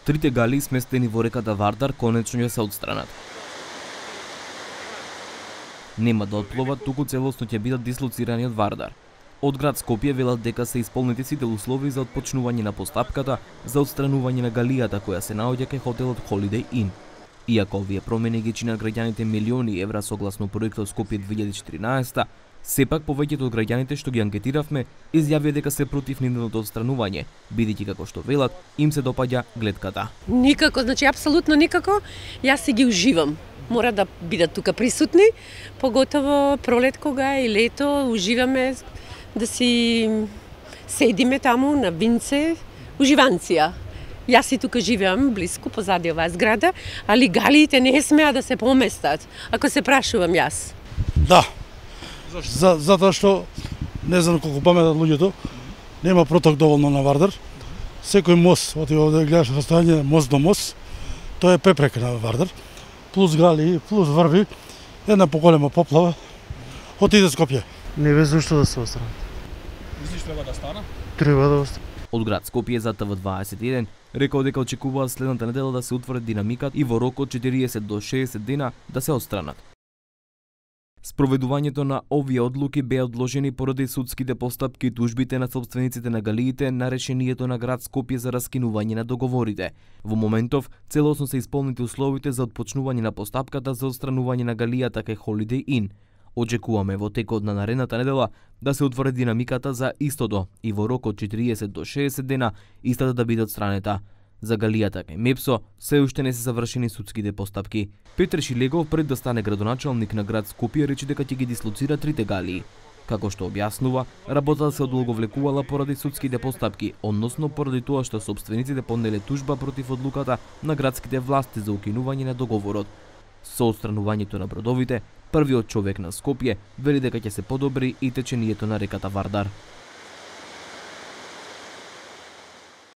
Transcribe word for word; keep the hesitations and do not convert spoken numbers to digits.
Трите галии сместени во реката Вардар конечно ќе се отстранат. Нема да отпловат, туку целосно ќе бидат дислоцирани од Вардар. Од град Скопје велат дека се исполнети сите услови за отпочнување на постапката за отстранување на галијата која се наоѓа кај хотелот Holiday Inn. Иако овие промени ги чинат граѓаните милиони евра согласно проектот Скопје две илјади и четиринаесета, сепак повеќето од граѓаните што ги анкетиравме изјавија дека се против нивното отстранување, бидејќи како што велат им се допаѓа глетката. Никако, значи апсолутно никако. Јас си ги уживам. Мора да бидат тука присутни, поготово пролет кога и лето уживаме да си седиме таму на винце, уживанција. Јас си тука живеам близко позади оваа зграда, али галиите не смеа да се поместат, ако се прашувам јас. Да. За, затоа што не знам колку паметат луѓето, нема проток доволно на Вардар. Секој мост, оти овде гледаш расстојање мост до мост, тоа е препрека на Вардар. Плюс галии, плюс врви, една поголема поплава, отиде Скопје. Не ве зашто да се отстранат. Мислиш треба да стана? Треба да остане. Од град Скопје за Т В дваесет и еден рекол дека очекуваат следната недела да се утврди динамикат и во рок од четириесет до шеесет дена да се отстранат. Спроведувањето на овие одлуки беа одложени поради судските постапки и тужбите на собствениците на галиите на решението на град Скопје за раскинување на договорите. Во моментов целосно се исполнети условите за отпочнување на постапката за отстранување на галијата кај Holiday Inn. Очекуваме во текот на наредната недела да се утврди динамиката за истото и во рок од четириесет до шеесет дена истата да биде отстранета. За галијата кај Мепсо се уште не се завршени судските постапки. Петр Шилегов пред да стане градоначалник на град Скопје рече дека ќе ги дислоцира трите галии. Како што објаснува, работата се одолговлекувала поради судските постапки, односно поради тоа што собствениците поднеле тужба против одлуката на градските власти за укинување на договорот. Со отстранувањето на бродовите, првиот човек на Скопје вели дека ќе се подобри и течението на реката Вардар.